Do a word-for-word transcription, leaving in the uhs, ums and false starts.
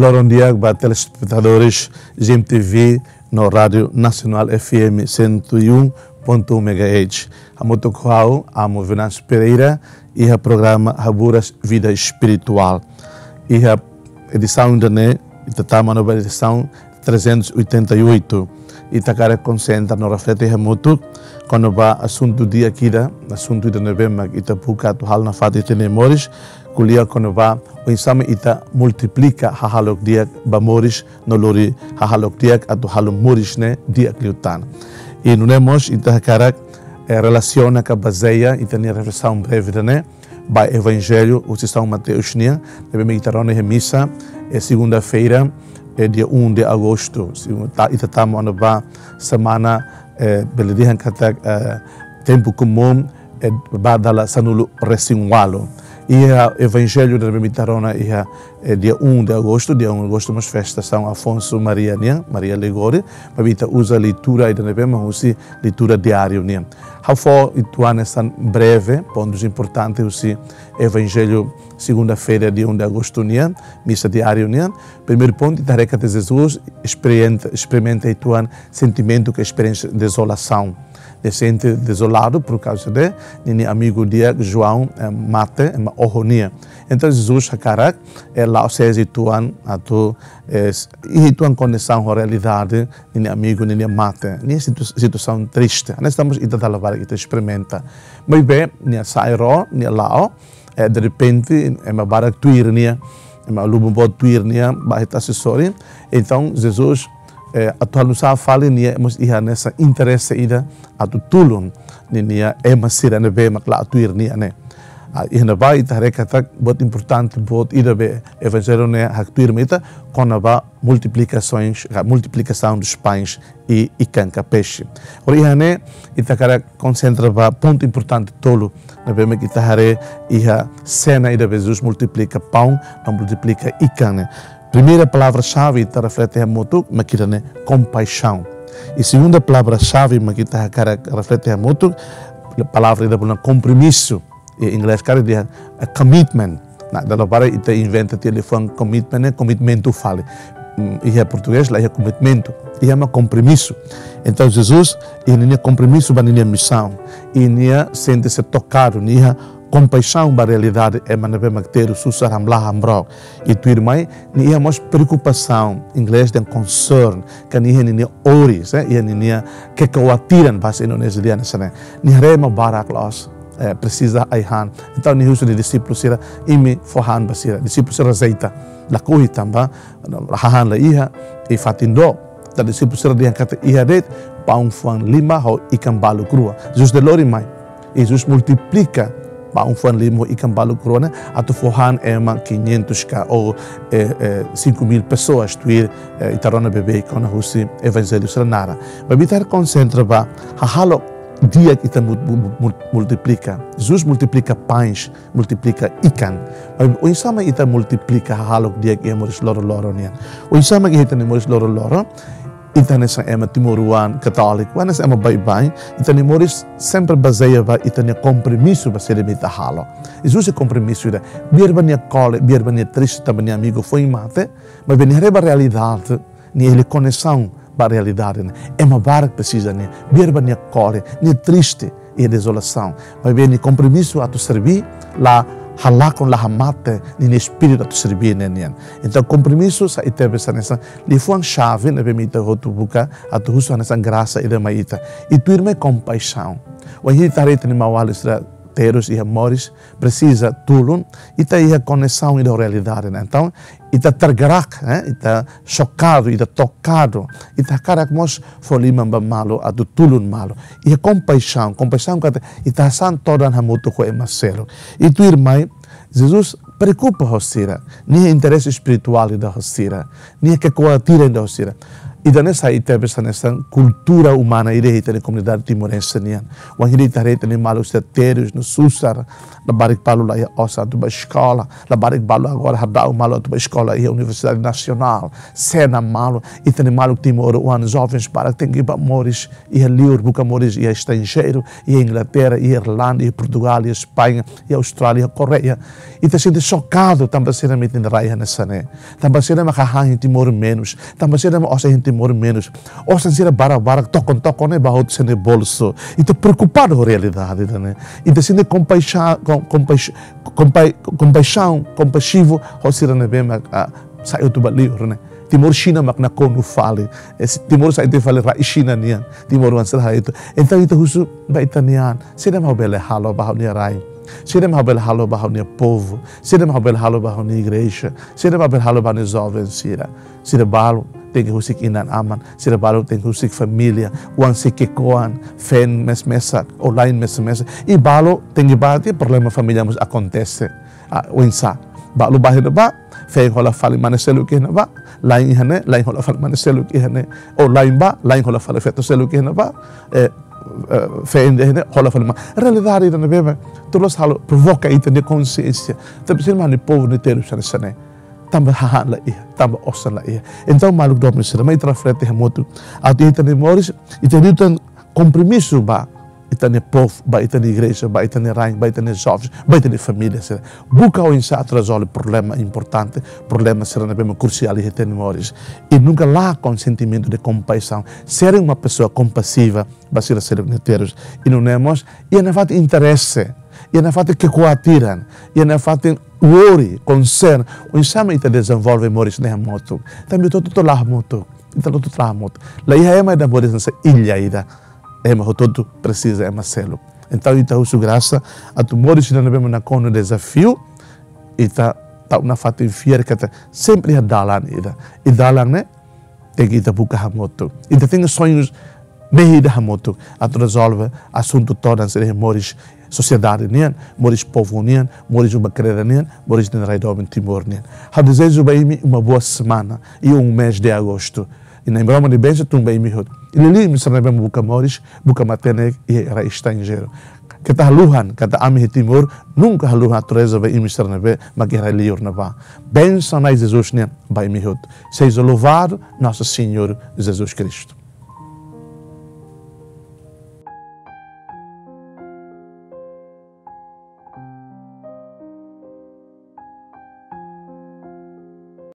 Loron di'ak ba telespetadores G M T V no Rádio Nacional F M cento e um ponto um megahertz. Hamutuk ho ha'u, Amo Venâncio Pereira, iha programa Haburas Vida Espiritual. Iha edisaun ida-ne'e, ita tama ona ba edisaun trezentos e oitenta e oito. Ita hakarak konsentra no reflete hamutuk kona-ba asuntu di'ak ida, asuntu ida ne'ebé mak ita buka atu halo nafatin ita-nia moris, ko'alia kona-ba oinsá mak ita multiplika hahalok di'ak ba moris no lori hahalok di'ak atu halo moris ne'e di'ak liután. I nune'e mós ita hakarak, eh, relasiona ka bazeia ita-nia reflesaun breve ida-ne'e ba Evanjellu husi São Mateus nian, ne'ebé mak ita rona iha misa, eh, segunda-feira, eh, dia um de agosto. Segun-, ta-, ita tama ona ba semana, eh, bele dehan katak, eh, tempu komún, eh, ba dala sanulu-resin-ualu. Iha Evanjellu ne'ebé mak ita rona iha, eh, dia um de agosto, dia um de agosto mós festa São Afonso Maria nian, Maria Ligori, maibé ita uza leitura ida ne'ebé mak husi leitura diáriu nian. Ha'u fó uitoan hanesan breve, pontus importantes husi Evanjellu segunda-feira, dia um de agosto nian, misa diáriu nian. Primeiru pontu, ita haree katak Jesus esperien-, esperimenta uitoan sentimentu ka esperiénsia dezolasaun. Nia sente dezoladu por kauza de ninia amigu di'ak João, eh, mate, ema oho nia. Entaun Jesus hakarak, eh, la'o ses uitoan atu, eh, s-, iha uitoan kondisaun ho realidade ninia amigu ninia mate. Nia situ-, situasaun triste. Hanesan mós ita dala barak ita esperimenta. Maibé, nia sa'e ró, nia la'o, eh, derrepente, ema barak tuir nia, ema lubun boot tuir nia, ba iha tasi sorin. Entaun, Jesus, eh, atu halo nusá fali nia mós iha hanesan interese ida atu tulun ninia ema sira ne'ebé mak la'o tuir nia ne'e. Ah, iha ne'ebá ita haree katak buat importante, buat ida be Evanjellu ne'e haktuir mai ita kona-ba multiplicações, ka multiplicação dos pães e, e ikan ka peixe. Agora iha ne'e, ita hakarak konsentra ba pontu importante tolu, ne'ebé mak ita haree iha sena ida be Jesus multiplika paun, no multiplika ikan ne'e. Primeira palavra-xave ita reflete hamutuk mak ida-ne'e kompaixaun. I segunda palavra-xave mak ita hakarak reflete hamutuk, palavra ida bolu kompromisu. Iha inglés karik dehan, eh, commitment. Nah, dala barak ita inventa tiha liafuan commitment ne'e, komitmentu fali. Hmm, iha portugés la iha komitmentu, iha mak kompromisu. Entaun Jesus, iha ninia kompromisu ba ninia misaun. I nia sente-se tokadu, nia iha kompaixaun ba realidade ema ne'ebé mak terus susar, hamlaha, hamrook. I tuirmai, nia iha mós preokupasaun, inglés dehan concern, ka nia iha ninia oris, eh, iha ninia kekhawatiran, bahasa Indonesia dehan hanesan ne'e. Nia haree ema barak loos, eh, presiza ai-han. Entaun nia husu nia dixípulu sira, imi fó han ba sira. Dixípulu sira rejeita. Lakohi tanba hahán la iha, i fatin dook. Entaun dixípulu sira dehan katak iha de'it paun fuan lima ho ikan baluk rua. Jesus de'it lori mai. Jesus multiplika paun fuan lima ho ikan baluk rua ne'e atu fó han ema quinhentos ka ou, eh, eh, cinco mil pessoas tuir, eh, ita rona beibeik ona husi Evanjellu sira naran. Maibé ita konsentra ba hahalok di'ak ita mul-, mul-, mul-, multiplika. Jesus multiplika pães, multiplika ikan. Maibé oinsá mak ita multiplika hahalok di'ak iha moris loroloron nian? Oinsá mak iha ita-nia moris loroloron, ita hanesan ema timoroan, katóliku, hanesan ema baibain, ita-nia moris sempre bazeia ba ita-nia kompromisu ba saida mak ita halo. Jesus iha kompromisu ida. Biar ba nia kole, biar ba nia triste tanba nia amigu foin mate, maibé nia haree ba realidade, nia iha koneksaun ba realidade ne'e. Ema barak presiza nia. Biar ba nia kole, nia triste, iha dezolasaun. Maibé nia kompromisu atu serbí, la halakon, la hamate ninia espíritu atu serbí ne'e nian. Entaun kompromisu sai tebes hanesan liafuan xave ne'ebé mak ita hotu buka atu husu hanesan grasa ida mai ita. I tuirmai kompaixaun. Wainhira ita haree ita-nia maun-alin sira terus iha moris, presiza tulun, ita iha koneksaun ida ho realidade ne'e. Entaun, ita tergerak, eh, ita xokadu, ita tokadu, ita hakarak mós fó liman ba malu, atu tulun malu. Iha kompaixaun, kompaixaun katak ita hanesan todan hamutuk ho ema seluk. I tuirmai, Jesus preokupa ho sira, nia iha interese espirituál ida ho sira, nia iha kekhawatiran ida ho sira. Ida-ne'e sai tebes hanesan kultura umana ida iha ita-nia komunidade timorense nian. Wainhira ita haree ita-nia maluk sira terus no susar, labarik balu la iha osan atu bá eskola, labarik balu agora hadau malu atu bá eskola iha Universidade Nasionál, sena malu, ita-nia maluk timoroan, jovens barak tenke bá moris iha liur, buka moris iha estranjeiru, iha Inglaterra, iha Irlanda, iha Portugal, iha España, iha Austrália, iha Koreia. Ita sente xokadu tanba sira mak iha rai hanesan ne'e. Tanba sira mak hahán iha Timor menus. Tanba sira mak osan iha Timor menus. Osan sira barak-barak, tokon-tokon ne'e bá hotu sira-nia bolsu. Ita preokupadu ho realidade ida-ne'e. Ita sente kompaixa-, kom-, kompaixa-, kompai-, kompaixaun, kompaxivu ho sira ne'ebé mak, ah, sai hotu bá liur ne'e. Timor Xina mak nakonu fali. Eh, si-, Timor sai hotu fali rai Xina nian. Timoroan sira hotu. Entaun ita husu ba ita-nia an. Saida mak ha'u bele halo ba ha'u-nia rai? Saida mak ha'u bele halo ba ha'u-nia povu? Saida mak ha'u bele halo ba ha'u-nia igreja? Saida mak ha'u bele halo ba ha'u-nia joven sira? Sira balu tenke husik inan-aman, sira balu tenke husik família, oan sei ki'ikoan, feen mesak-mesak, oan la'en mesak-mesak. I balu tenke bá tiha problema família mós akontese. Ah, oinsá? Balu bá iha ne'ebá, feen hola fali mane seluk iha ne'ebá, la'en iha ne'e, la'en hola fali mane seluk iha ne'e. Oan la'en bá, la'en hola fali feto seluk iha ne'ebá, eh, eh, feen iha ne'e, hola fali ma-. Realidade ida ne'ebé mak, tuir loos halo, provoka ita-nia konxiénsia. Tanba sira mak ha'u-nia povu ne'e terus hanesan ne'e. Tanba hahán la iha, tanba osan la iha. Entaun, maluk doben sira, mai ita reflete hamutuk. Atu ita-nia moris, ita liután kompromisu ba ita-nia povu, ba ita-nia igreja, ba ita-nia rain, ba ita-nia jovens, ba ita-nia família sira. Buka oinsá atu rezolve problema importante, problema sira ne'ebé mak krusiál iha ita-nia moris. I nunka lakon sentimentu de kompaixaun. Ser uma pessoa compassiva ba sira seluk nia terus. I nune'e mós, iha nafatin interese, iha nafatin kekuatiran, iha nafatin worry, concern, oinsá mak ita dezenvolve moris ne'e hamutuk. Tanba ita hotu-hotu la'o hamutuk, ita hotu-hotu la'o hamutuk. La iha ema ida moris hanesan illa ida. Ema hotu-hotu presiza ema seluk. Entaun ita husu grasa atu moris ida ne'ebé mak nakonu dezafiu, ita tau nafatin fiar katak sempre iha dalan ida. I dalan ne'e tenke ita buka hamutuk. Ita tenke soñu mehi ida hamutuk atu rezolve asuntu todan sira iha moris sosiedade nian, moris povu nian, moris uma-kreda nian, moris ita-nia rai doben Timor nian. Ha'u dezeja ba imi uma boa semana e um mês de agosto. I Nai Maromak nia bensaun tun ba imi hotu. I liuliu imi sira ne'ebé mak buka moris, buka matenek iha rai estranjeiru. Keta haluha katak ami iha Timor nunka haluha atu reza ba imi sira ne'ebé mak iha rai liur ne'ebá. Bensaun Nai Jesus nian ba imi hotu. Seja louvado Nosso Senhor Jesus Cristo.